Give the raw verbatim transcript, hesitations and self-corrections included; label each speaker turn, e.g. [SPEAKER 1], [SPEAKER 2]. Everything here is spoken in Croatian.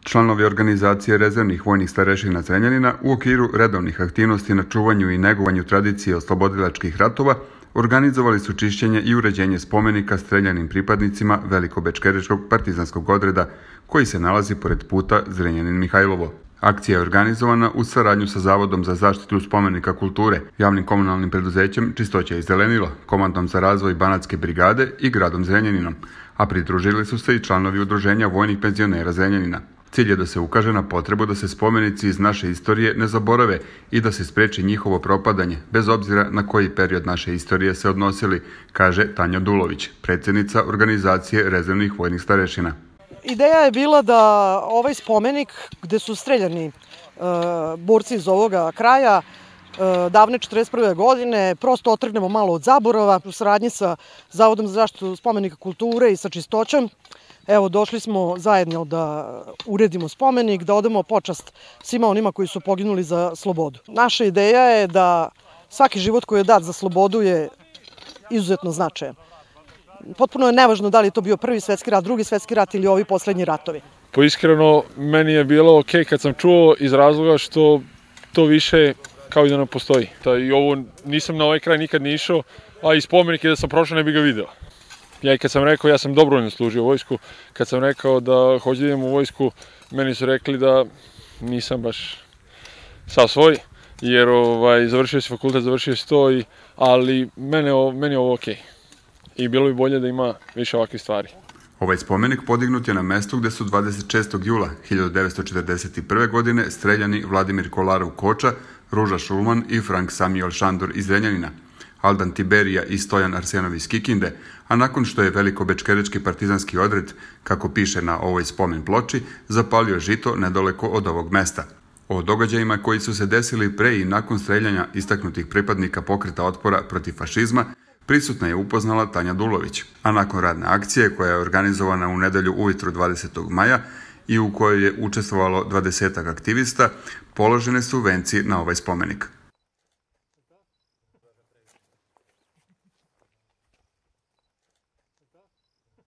[SPEAKER 1] Članovi organizacije rezervnih vojnih starešina Zrenjanina u okviru redovnih aktivnosti na čuvanju i negovanju tradicije oslobodilačkih ratova organizovali su čišćenje i uređenje spomenika streljanim pripadnicima Velikobečkerečkog partizanskog odreda koji se nalazi pored puta Zrenjanin-Mihajlovo. Akcija je organizovana u saradnju sa Zavodom za zaštitu spomenika kulture, javnim komunalnim preduzećem Čistoća i zelenilo, Komandom za razvoj Banatske brigade i gradom Zrenjaninom, a pridružili su se i članovi Udruženja vojnih penzionera Zrenjanina. Cilj je da se ukaže na potrebu da se spomenici iz naše istorije ne zaborave i da se spreči njihovo propadanje, bez obzira na koji period naše istorije se odnosili, kaže Tanja Dulović, predsjednica organizacije rezervnih vojnih starešina.
[SPEAKER 2] Ideja je bila da ovaj spomenik gde su streljani e, borci iz ovoga kraja e, davne četrdeset prve godine prosto otrgnemo malo od zaborava u saradnji sa Zavodom za zaštitu spomenika kulture i sa Čistoćom. Evo, došli smo zajedno da uredimo spomenik, da odamo počast svima onima koji su poginuli za slobodu. Naša ideja je da svaki život koji je dat za slobodu je izuzetno značajan. Potpuno je nevažno da li je to bio prvi svetski rat, drugi svetski rat ili ovi poslednji ratovi.
[SPEAKER 3] Po iskreno, meni je bilo ok kad sam čuo iz razloga što to više kao i da ne postoji. I ovo nisam na ovaj kraj nikad ni išao, a i spomenik je da sam prošao ne bi ga video. Ja i kad sam rekao, ja sam dobrovoljno služio vojsku, kad sam rekao da hoću da idem u vojsku, meni su rekli da nisam baš sav svoj, jer ovaj, završio si fakultet, završio si to, i, ali mene, meni je ovo okej. I bilo bi bolje da ima više ovakvih stvari.
[SPEAKER 1] Ovaj spomenik podignut je na mestu gde su dvadeset šestog jula hiljadu devetsto četrdeset prve. godine streljani Vladimir Kolarov Koča, Ruža Šulman i Frank Samuel Šandor iz Zrenjanina, Aldan Tiberija i Stojan Arsenov iz Kikinde, a nakon što je Velikobečkerečki partizanski odred, kako piše na ovoj spomen ploči, zapalio žito nedaleko od ovog mesta. O događajima koji su se desili pre i nakon streljanja istaknutih pripadnika pokreta otpora protiv fašizma prisutna je upoznala Tanja Dulović, a nakon radne akcije koja je organizovana u nedelju ujutru dvadesetog maja i u kojoj je učestvovalo dvadesetak aktivista, položene su venci na ovaj spomenik.